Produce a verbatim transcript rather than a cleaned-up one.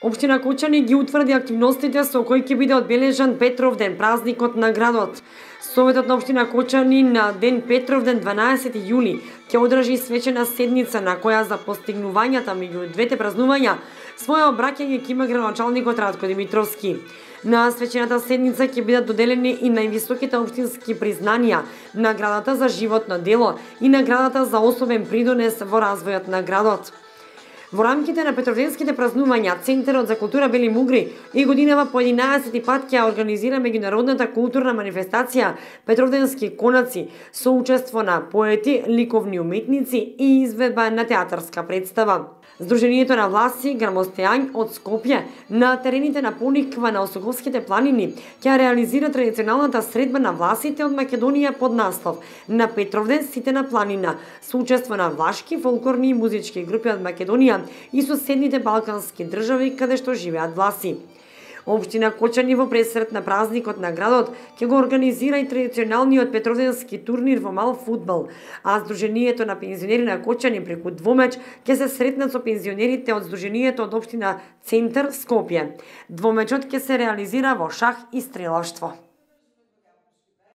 Општина Кочани ги утврди активностите со кои ќе биде одбележан Петровден, празникот на градот. Советот на општина Кочани на ден Петровден дванаесети јули ќе одржи свечена седница на која за постигнувањата меѓу двете празнувања своја обраќање ќе има градоначалникот Радко Димитровски. На свечената седница ќе бидат доделени и највисоките општински признанија, наградата за животно дело и наградата за особен придонес во развојот на градот. Во рамките на Петровденските празнувања, Центарот за култура Бели Мугри и годинава по единаесети пат ќе организира меѓународната културна манифестација Петровденски конаци со учество на поети, ликовни уметници и изведба на театарска представа. Сдруженијето на власти Грамостеањ од Скопје на терените на Пониква на Осоговските планини ќе реализира традиционалната средба на власите од Македонија под наслов на Петровден сите на планина со учество на влашки, фолклорни и музички групи од Македонија и соседните балкански држави каде што живеат власи. Општина Кочани во пресрет на празникот на градот ќе го организира и традиционалниот петровденски турнир во мал фудбал, а Сдруженијето на пензионери на Кочани преку двомеч ќе се сретнат со пензионерите од Сдруженијето од општина Центар Скопје. Двомечот ќе се реализира во шах и стрелавштво.